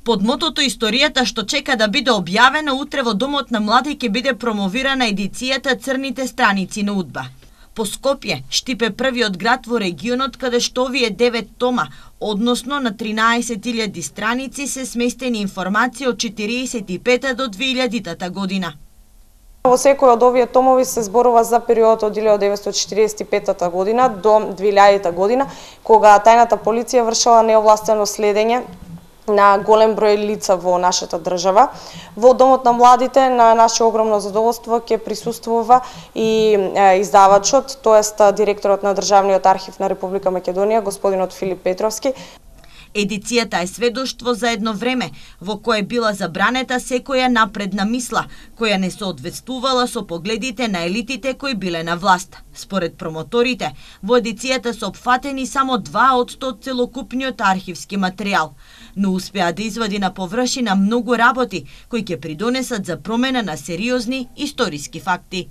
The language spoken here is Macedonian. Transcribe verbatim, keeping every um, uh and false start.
Под мотото историјата што чека да биде објавена, утре во Домот на млади ќе биде промовирана едицијата Црните страници на УДБА. По Скопје, Штип е првиот град во регионот каде што овие девет тома, односно на тринаесет илјади страници, се сместени информации од четириесет и пета до две илјадитата година. Во секој од овие томови се зборува за периодот од илјадат деветстотини четириесет и пета година до две илјадита година, кога тајната полиција вршела неовластено следење на голем број лица во нашата држава. Во Домот на младите на наше огромно задоволство ќе присуствува и е, издавачот, тоест директорот на Државниот архив на Република Македонија, господинот Филип Петровски. Едицијата е сведоштво за едно време во кое била забранета секоја напредна мисла, која не соодветствувала со погледите на елитите кои биле на власт. Според промоторите, во едицијата се опфатени само два од сто од целокупниот архивски материјал, но успеа да извади на површина многу работи кои ќе придонесат за промена на сериозни историски факти.